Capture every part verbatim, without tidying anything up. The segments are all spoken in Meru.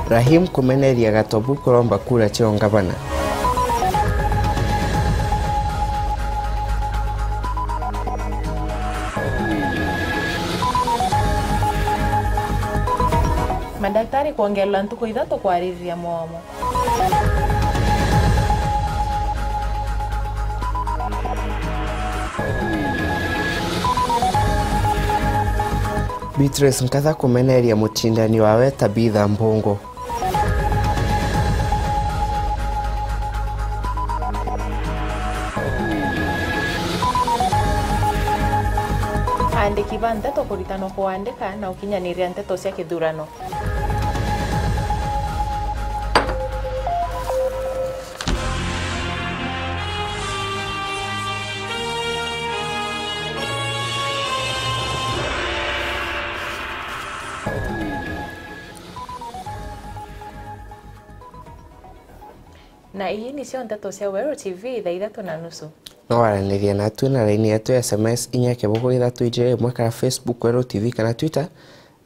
Rahim kumeneria Gatobu kuromba kura cia ungavana. Madaktari kwongererwa ntuku ithatu kwaririria mwomo. Beatrice Nkatha kumeneria mucindani wawe Tabitha Mbungu. Aandiki ba nteto kuritanwa kuandika na ukinyaniria nteto cia kithurano. Na ii nicio nteto cia Weru T V thaa ithatu na nusu. No waranirie natu na raini yetu ya S M S inya kibugu ithatu ijiri imwe kana Facebook Weru T V kana Twitter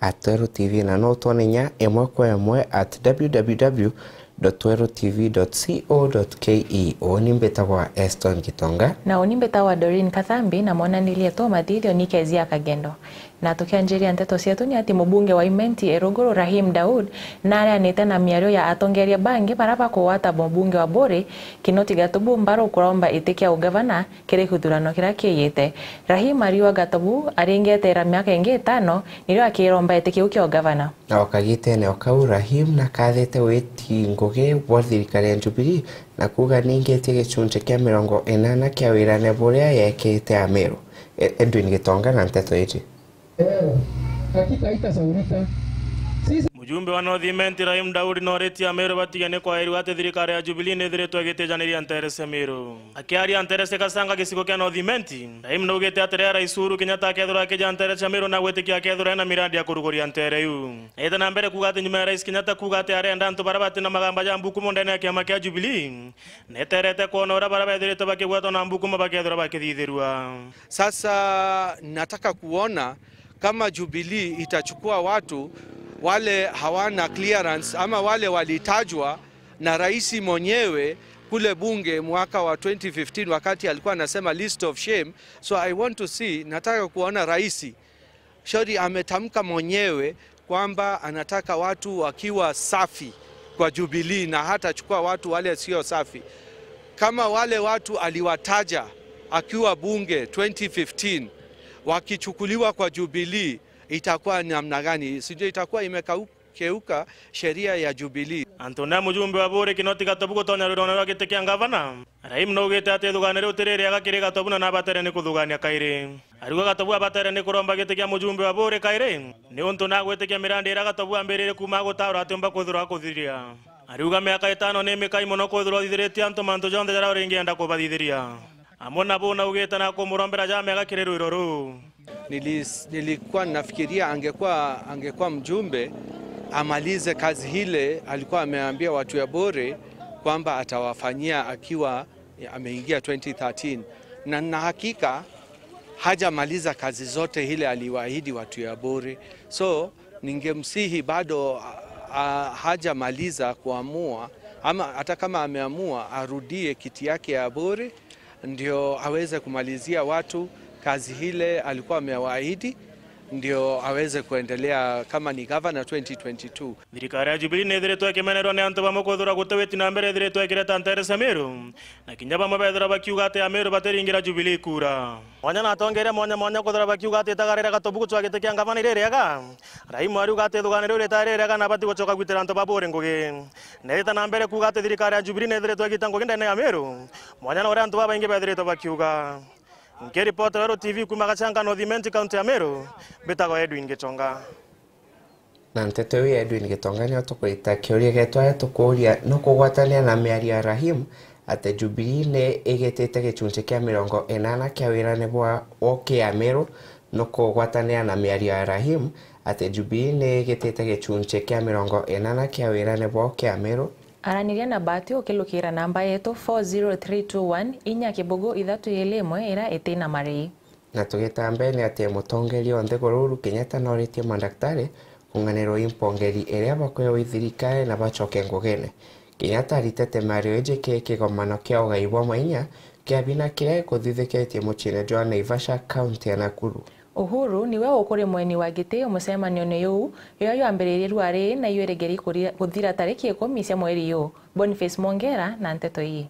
at Weru T V na no utwone inya imwe kwa imwe at w w w dot weru t v dot co dot k e. Uuni mbitagwa Eston Gitonga. Na uuni mbitagwa Doreen Kathambi na monanirie tu mathithio ni Kezia Kagendo. Na tukianjiria nteto cietu ni ati mubunge wa Imenti Eruguru Rahim Daud nareanite na miario ya atongeria bangi bara bakugwata mubunge wa Buri Kinoti Gatubu mbaru kuromba iti kia ugavana kiri kithurano kiria kiiyite. Rahim ariuga Gatubu aringeteera miaka ingi itano nirio akiromba iti kiu kia ugavana. Na o kagitene o kau, Rahim nakathite witi ngugi bwa thirikari ya Jubilee na kuuga ningitie gicunci kia mirongo inana kia wirane buria yekite Ameru. E-, Edwin Gitonga na nteto iji. Leo, hakika haitasahaulika. Sisi Mujumbe wa North Imenti Rahim Daudi noritie Ameru batigane kwairua ati thirikari ya Jubilee nithiritwe igitijaniria nteere cia Meru. Akiaria nteere cia Kasanga gicigo kia North Imenti, Rahim naugite ati riria Rais Uhuru Kenyatta akethirwa akija nteere cia Meru na gwitikia akethirwa ena miradi ya kuruguria nteere iu. Naite na mbere kuuga ati nyuma ya Rais Kenyatta kuuga ati arenda antu baria bati na magamba ja mbukumo ndene ya kiama kia Jubilee, neterete kwona uria baria bethiritwe bakigwetwa na mbukumo bakethirwa bakithithirua. Sasa nataka kuona kama Jubilee itachukua watu wale hawana clearance ama wale walitajwa na rais mwenyewe kule bunge mwaka wa twenty fifteen wakati alikuwa anasema list of shame. So I want to see, nataka kuona rais Shauri ametamka mwenyewe kwamba anataka watu wakiwa safi kwa Jubilee na hatachukua watu wale sio safi. Kama wale watu aliwataja akiwa bunge twenty fifteen wakichukuliwa kwa Jubilee, itakuwa namna gani? Sijui, itakuwa imekeuka sheria ya Jubilee. Antu na mujumbe wa Buri Kinoti Gatobu gutonya rwirone rwa giti kia ngavana. Rahim naugite ati ithugane riu ti ririega kiri Gatobu na nabatere ni kuthugania kairi. Ariuga Gatobu abatere ni kuromba giti kia mujumbe wa Buri kairi, niuntu nagwitikia mirandi iria Gatobu ambiririe kuuma agutaura atiumba kwithirwa akuthiria. Ariuga miaka itano ni mikai mono kwithirwa uthithiritie antu mantu jonthe jaria uringienda kubathithiria. Amwe na buu naugite nakumurombera ja mega kiri rwiro ruu. Nilis-, nilikuwa nafikiria angekuwa, angekuwa mjumbe, amalize kazi ile alikuwa ameambia watu ya Buri kwamba atawafanyia akiwa ameingia twenty thirteen. Na, na hakika hajamaliza kazi zote ile aliwaahidi watu ya Buri. So, ningemsihi bado, a, a, hajamaliza kuamua, ama hata kama ameamua, arudie kiti yake ya Buri, ndio aweze kumalizia watu kazi ile alikuwa amewaahidi, ndio aweze kuendelea kama ni gavana twenty twenty-two. Thirikari ya Jubilee ni ithiritwe ikimenerwa ni antu bamwe kwithirwa guti witi na mbere ithiritwe ikireta nteere cia Meru, na kinya bamwe bethirwa bakiuga ati Ameru batiringira Jubilee kura. Mwanya na atongeria mwanya mwanya kwithirwa bakiuga ati itagara ria Gatobu gucwa giti kia ngavana iri riega. Rahim ariuga ati ithugane riu ritari riega na abati gucoka gwitira antu ba Buri ngugi. Neethite na mbere kuuga ati thirikari ya Jubilee neethiritwe igiita ngugi ndene ya Meru, mwanya na uria antu babaingi beethiritwe bakiuga. Nkiripotera Weru T V kuuma Gachanga North Imenti, kaunti ya Meru, mbitagwa Edwin Gichonga. Na nteto iu ya Edwin Gitonga nio tukurita kiuria gietu aria tukuuria, nukugwatania na miario ya Rahim ati Jubilee ni igitite gicunci kia mirongo inana kia wirane bwa woki ya Meru, nukugwatania na miario ya Rahim ati Jubilee ni igitite gicunci kia mirongo inana kia wirane bwa woki ya Meru? Araniria na Bahati ukilukira namba yetu four zero three two one, inya kibugu ithatu ili imwe iria iti na marii. Na tugita mbere ni ati mutongeria o nthiguru Uhuru Kenyatta noritie mandaktari kung'anirwa i mpongeri iria bakwewa i thirikari na bacoke ngugine. Kenyatta aritete miario iji ki kigomano kia ugai bwa mainya kia bina kiria gikuthithikitie muciine jwa Naivasha, kaunti ya Nakuru. Uhuru niwe ukuri mweni wa giti mucemanione juu, juria jwambiririe ruari na ijwirigiri kuri-, kuthira tariki ikumi cia mweri juu. Boniface Mwongera na nteto ii.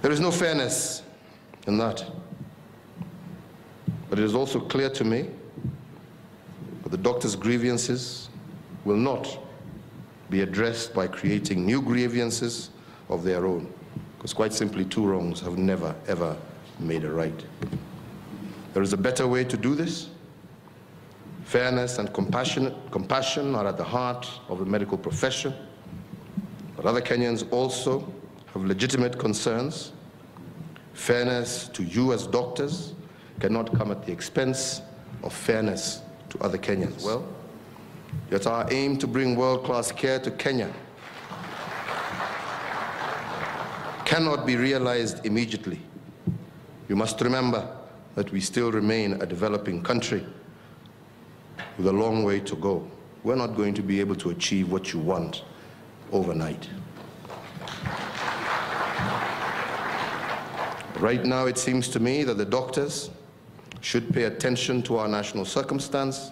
There is no fairness in that. But it is also clear to me that the doctors' grievances will not be addressed by creating new grievances of their own, because quite simply, two wrongs have never, ever made a right. There is a better way to do this. Fairness and compassion, compassion are at the heart of the medical profession, but other Kenyans also have legitimate concerns. Fairness to you as doctors cannot come at the expense of fairness to other Kenyans. Well, yet our aim to bring world-class care to Kenya cannot be realized immediately. You must remember that we still remain a developing country with a long way to go. We're not going to be able to achieve what you want overnight. Right now, it seems to me that the doctors should pay attention to our national circumstance,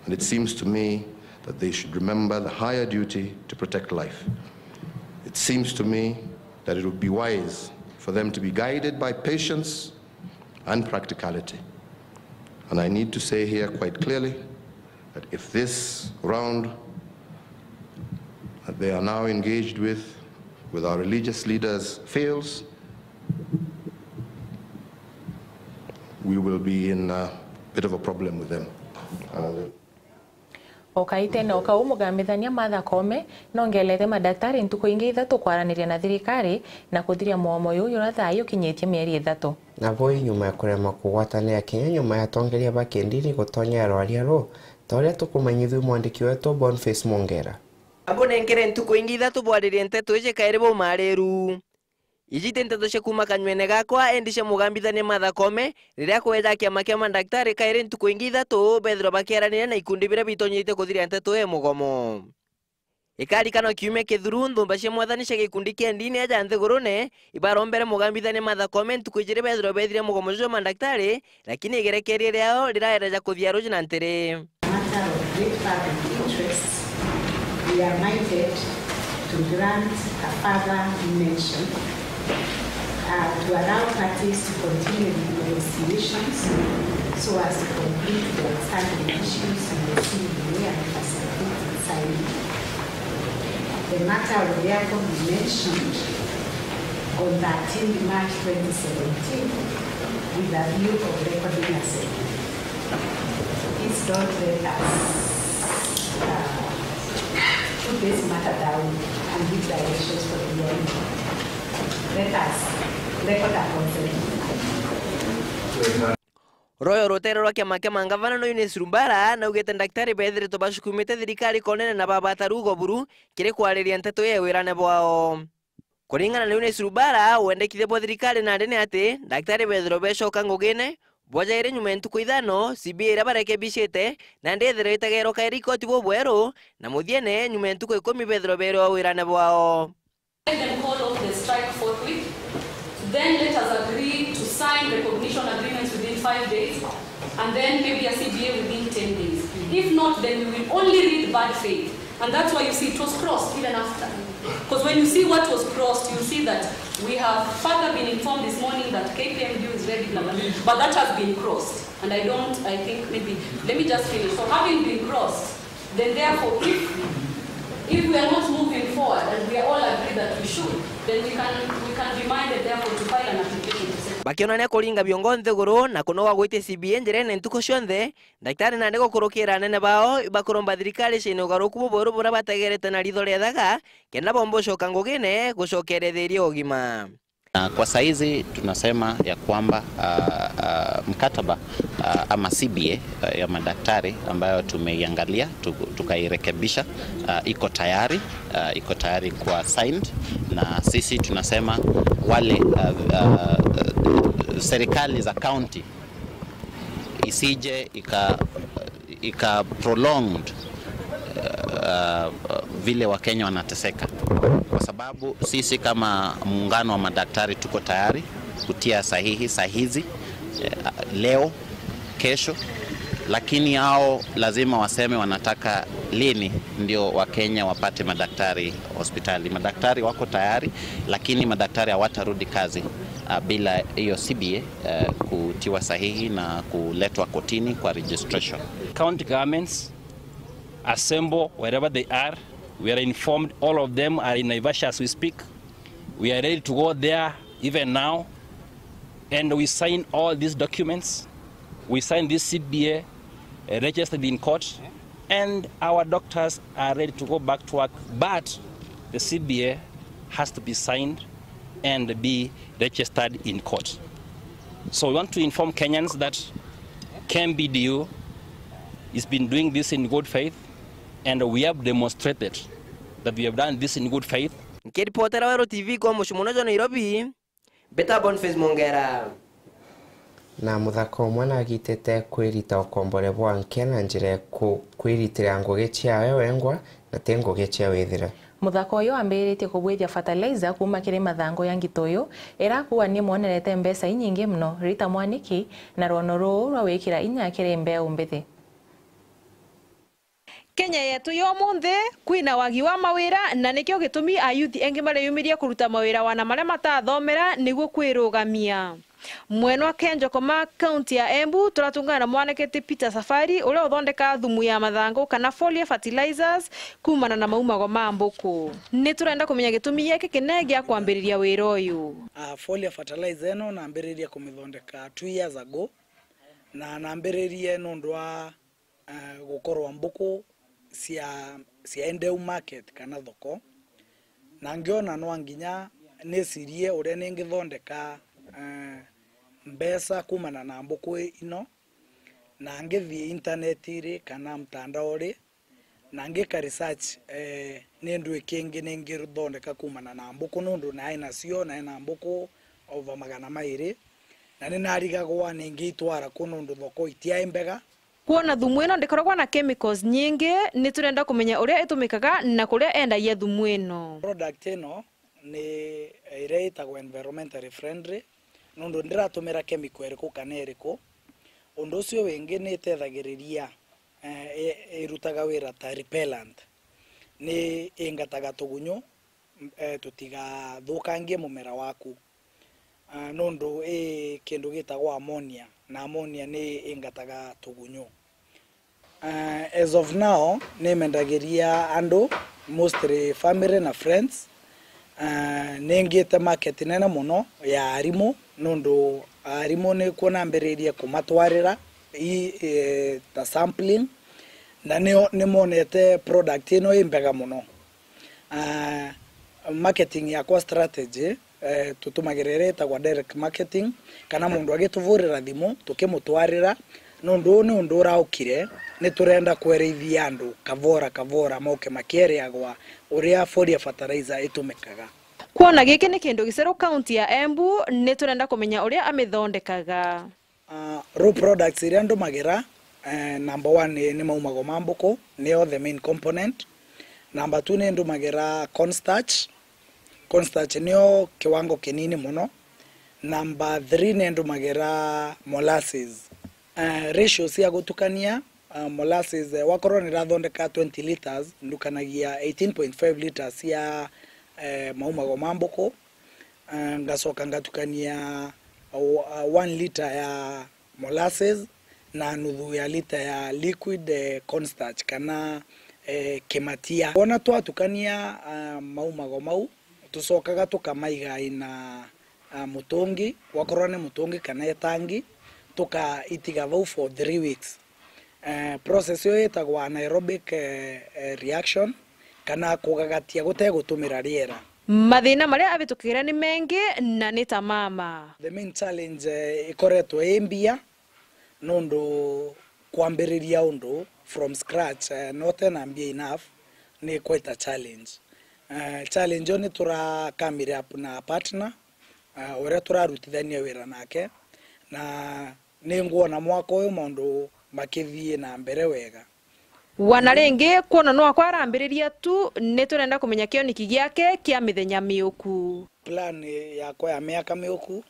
and it seems to me that they should remember the higher duty to protect life. It seems to me that it would be wise for them to be guided by patience and practicality. And I need to say here quite clearly that if this round that they are now engaged with, with our religious leaders fails, we will be in a bit of a problem with them. Uh, O kaitene o kau, mugambithania Martha Koome nongelete madaktari ntuku ingi ithatu kwaraniria na thirikari na kuthiria mugomo juju juria thaa ii ukinyitie mieri ithatu. Nabo i nyuma ya kurema kugwatanira kinya nyuma ya atongeria ba kindini gutonya rwaria ruu, ta uria tukumanyithua mwandiki wetu Boniface Mwongera. Abunenkere ntuku ingi ithatu bwaririe nteto iji kairi baumaariru. Iji ti nteto cia kuuma kanywene gakwa, indi cia mugambithania Martha Koome, riria akweja kiama kia madaktari kairi ntuku ingi ithatu bethirwa bakiaraniria na ikundi biria bitonyetie kuthiria nteto ya mugomo. Ikarikana kiumia kithuru, nthumba cia mwathani cia gikundi kia ndini aja nthigurune ibarombere mugambithania Martha Koome ntuku ijiri bethirwa bethire mugomo jwa madaktari, lakini igerekeria riao riraereja kuthia ruji na ntiri. Matter of great public interest, we are minded to grant a further mention, uh, to allow parties to continue with negotiations so as to complete the outstanding issues in the C B A and facilitate its signing. The matter will therefore be mentioned on thirteenth March twenty seventeen with a view of recording a settlement. Please don't let us, uh, put this matter down and give directions for the year. Let us record a consent. Royo rutere rwa kiama kia mangavana no Eunice Lumbara naugite ndaktari bethiritwe bacukumite thirikari konene na babata rugo buru kiri kwariria nteto ya wirane bwao. Kuringana na Eunice Lumbara, wendekithia bwa thirikari nandi ni ati ndaktari bethirwe becoka ngugine bwajaire nyuma ya ntuku ithano, C B A iria barekebicite, nandi ethirwe itagerwa kairi ikoti bubweru, na muthiene nyuma ya ntuku ikumi bethirwe beerwa wirane bwao. Let them call off the strike forthwith. Then let us agree to sign recognition agreements within five days, and then maybe a C B A within ten days. If not, then we will only read bad faith. And that's why you see it was crossed even after. 'Cause when you see what was crossed, you see that we have further been informed this morning that K P M G is ready, blah, blah, but that has been crossed. And I don't, I think maybe, let me just finish. So having been crossed, then therefore, if, if we are not moving forward and we are all agree that we should, then we can, we can be minded therefore to file an application to settle. Bakionania kuringa biongo nthiguru na kunoga gwitia C B A njirene ntuku cionthe, ndaktari nandi gukurukira anene bao ibakuromba thirikari ciine ugaruku bubweru buria bategerete na ritho ria thaga, kenda bomba ucoka ngugine gucokeria thiria ugima. Na kwa saizi tunasema ya kwamba, ah, ah, mkataba, ah, ama C B A, ah, ya madaktari ambayo tumeiangalia, tu-, tukairekebisha, ah, iko tayari, ah, iko tayari kuwa signed, na sisi tunasema wale, ah, ah, serikali za county isije ika-, ika prolonged, uh, vile Wakenya wanateseka, kwa sababu sisi kama muungano wa madaktari tuko tayari kutia sahihi saa hizi, eh, leo, kesho, lakini hao lazima waseme wanataka lini ndio Wakenya wapate madaktari hospitali. Madaktari wako tayari, lakini madaktari hawatarudi kazi, ah, bila hiyo C B A, eh, kutiwa sahihi na kuletwa kotini kwa registration. County governments assemble wherever they are. We are informed all of them are in Naivasha as we speak. We are ready to go there even now. And we sign all these documents. We sign this C B A, uh, registered in court. And our doctors are ready to go back to work. But the C B A has to be signed and be registered in court. So we want to inform Kenyans that K M B D U has been doing this in good faith, and we have demonstrated that we have done this in good faith. Nkiripotera Weru T V kwa mucii munene jwa Nairobi, Beta Boniface Mongera. Na muthaka umwe nagitite kwirita ukombore bwa nke na njira ya ku-, kwiritira ngugi ciawe wengwa na ti ngugi cia withira. Muthaka uyu wambiritie kubwithia fertilizer kuuma kiri mathangu ya ngitoyu, ira akuuga ni mwonerete mbeca inyingi mono. Rita Mwaniki na rwono ruu rwa gwikira inya kiri mbeu mbithi. Kenya yetu ya umunthi, kwina wagi wa mawira, na nikio gitumi ayuthi engi mareyumiria kuruta mawira wana maria matathomera niguo kwirugamia. Mwena wa Kenjokoma, kaunti ya Embu, turatungana na mwanake ti Peter Safari, uria uthondeka thumu ya mathangu kana foliar fertilizers kuumana na maumago ma mbuku. Ni turenda kumenya gitumi giki kinene gia kwambiriria wira uyu. Ah, foliar fertilizer ino nambiririe kumithondeka two years ago, na nambiririe nundu wa eh, gukorwa mbuku cia, cia Endeu market kana thoko, na ngiona nwa nginya nicirie uria ningithondeka, eh, mbeca kumana na mbuku ino, na ngithii intaneti ri kana mtandao ri, na ngika research, eh, ni ndui kingi ningithondeka kumana na mbuku, nundu nae nacio, nae na mbuku over magana mairi, na ninarigagwa ningiitwara ku nundu thoko itiae mbega. Kwona thumu ino ndikoragwa na chemicals nyingi, ni turenda kumenya uria itumikaga na kuria endagia thumu ino. Product ino ni iria itagwa environmentally friendly, nundu ndiratumira chemical iriku kana iriku. Undu ucio wingi ni itethagiriria, eh, i-, irutaga wira ta repellent. Ni ingataga tugunyu, eh, tutigathukangie mumera waku. Ah, nundu i kindu gitagwa ammonia, na ammonia ni ingataga tugunyu. Ah, as of now, nimendagiria andu, mostly family na friends. Ah, ningite market nene mono ya arimu, nundu arimu nikuo nambiririe kumatwarira i, eh, ta sampling, na nio, nimonete product ino i mbega mono. Ah, marketing yakwa strategy, eh, tutumagira iria itagwa direct marketing, kana mundu agituvurira thimu, tukimutwarira, nundu uu ni undu uraukire, ni turenda kwerithia andu kavora kavora moke makieriagwa uria foliar fertilizer itumikaga. Kwona giki ni kindu giceru kaunti ya Embu, ni turenda kumenya uria amithondekaga. Ah, raw products iria ndumagira, eh, number one ni, ni maumago ma mbuku, nio the main component. Number two ni ndumagira cornstarch. Cornstarch nio kiwango kinini mono. Number three ni ndumagira molasses. Eh, ratio cia gutukania, ah, molasses, eh, wakorwo nirathondeka twenty litres, ndukanagia eighteen point five litres cia, eh, maumago ma mbuku. Ah, ngacoka ngatukania o-, ah, one litre ya molasses na nuthu ya litre ya liquid, eh, cornstarch kana, eh, kimatia. Wona twatukania, ah, maumago mau, tucokaga tukamaiga ina, ah, mutungi, wakorwo ni mutungi kana itangi, tukaitiga vau for three weeks. Eh, process iyo itagwa anaerobic, eh, eh, reaction, kana kugagatia gutegutumira riera. Mathina maria avitukagirira ni mengi na ni ta mama. The main challenge, eh, ikoretwo i mbia, nundu kwambiriria undu from scratch, eh, na utena mbia enough, ni quite a challenge. Eh, challenge iyo ni turakamire up na partner, eh, uria turarutithania wira nake, na ningwona mwaka uyu maundu makithii na mbere wega. Wana ringi, kwona no akwa arambiriria tu, ni turenda kumenya kioniki giake kia mithenya miuku. Plan yakwa ya miaka miuku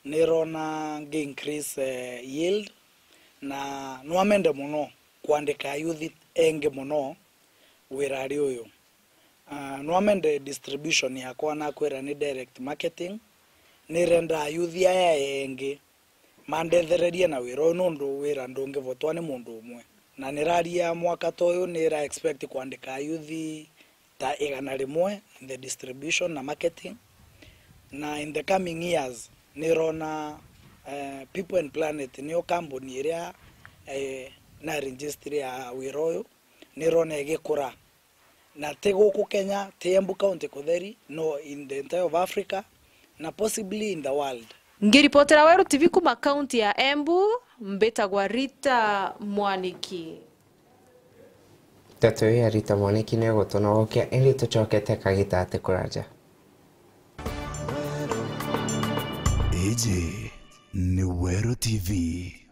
nirona ngi increase, eh, yield, na nwamende muno kwandika ayuthi engi muno wirari uyu. Ah, nwamende distribution yakwa nakwira ni direct marketing, nirenda ayuthi aya engi mandethererie na wira uyu, nundu wira ndungivotwa ni mundu umwe. Na niraria mwaka ta uyu nira expect kwandika ayuthi ta igana rimwe in the distribution na marketing. Na in the coming years nirona, eh, People and Planet niyo kambuni iria, eh, na register ya wira uyu, nirona igikura. Na ti guku Kenya, ti Embu County kutheri, no in the entire of Africa, na possibly in the world. Ngiripotera Weru T V kuma kaunti ya Embu, mbitagwa Rita Mwaniki. Nteto iyo ya Rita Mwaniki ni igutunogokia, indi tucokete kagita ati kuraja. Iji ni Weru T V.